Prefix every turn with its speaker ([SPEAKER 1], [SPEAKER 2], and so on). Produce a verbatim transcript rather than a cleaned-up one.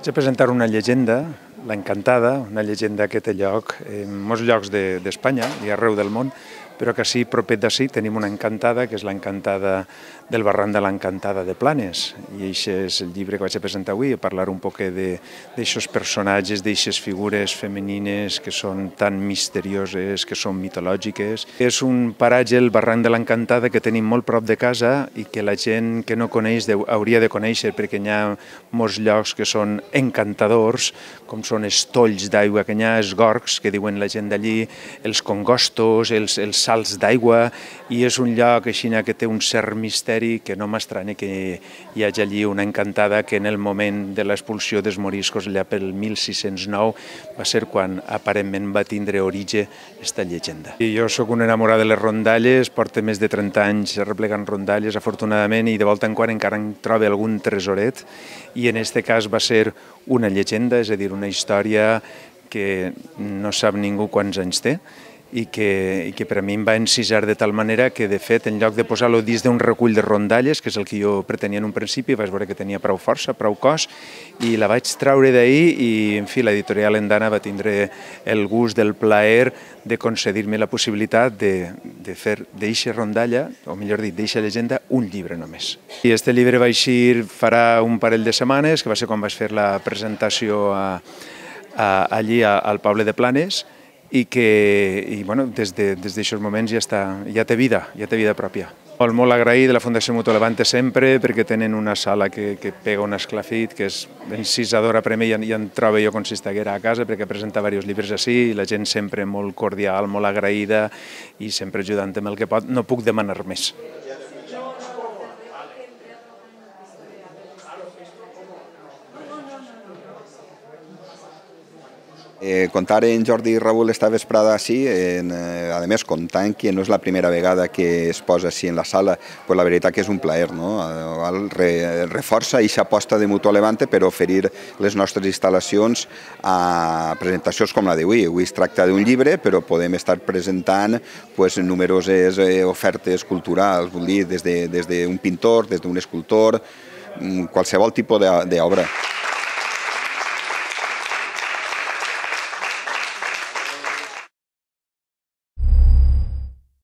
[SPEAKER 1] Vaig a presentar una llegenda, l'Encantada, una llegenda que té lloc en molts llocs d'Espanya i arreu del món, però que sí, proper d'ací, tenim una encantada, que és l'encantada del barranc de l'Encantada de Planes. I això és el llibre que vaig a presentar avui, a parlar un poc d'aixòs personatges, d'aixes figures femenines que són tan misterioses, que són mitològiques. És un paratge, el barranc de l'Encantada, que tenim molt prop de casa i que la gent que no coneix hauria de conèixer, perquè hi ha molts llocs que són encantadors, com són els tolls d'aigua que hi ha, els gorgs, que diuen la gent d'allí, els congostos, els, els salts d'aigua, i és un lloc així que té un cert misteri que no m'estranya que hi hagi allí una encantada que en el moment de l'expulsió dels moriscos, allà pel mil sis-cents nou, va ser quan aparentment va tindre origen aquesta llegenda. I jo sóc un enamorat de les rondalles, porto més de trenta anys replegant rondalles, afortunadament, i de volta en quan encara en trobo algun tresoret, i en aquest cas va ser una llegenda, és a dir, una història que no sap ningú quants anys té, i que, i que per a mi em va encisar de tal manera que, de fet, en lloc de posar-lo dins d'un recull de rondalles, que és el que jo pretenia en un principi, vaig veure que tenia prou força, prou cos, i la vaig traure d'ahir i, en fi, l'editorial Endana va tindre el gust del plaer de concedir-me la possibilitat de, de fer d'eixa rondalla, o millor dit, d'eixa llegenda, un llibre només. I aquest llibre va eixir farà un parell de setmanes, que va ser quan vaig fer la presentació a, a, allí a, al poble de Planes, i que i, bueno, des d'aixòs de, moments ja, està, ja té vida, ja té vida pròpia. Molt, molt agraït de la Fundació Mutuo Levante sempre, perquè tenen una sala que, que pega un esclafit, que és encisadora per a mi, i en, i en trobo jo com si estiguera a casa, perquè presenta diversos llibres així, i la gent sempre molt cordial, molt agraïda, i sempre ajudant amb el que pot. No puc demanar més.
[SPEAKER 2] Eh, contar en Jordi Raúl esta vesprada així, en, eh, a més contant que no és la primera vegada que es posa així en la sala, pues la veritat que és un plaer, no? Re, reforça aquesta aposta de Mutuo Levante per oferir les nostres instal·lacions a presentacions com la d'avui. Avui es tracta d'un llibre, però podem estar presentant pues, numeroses eh, ofertes culturals, vull dir, des d'un de, des de pintor, des d'un escultor, qualsevol tipus d'obra.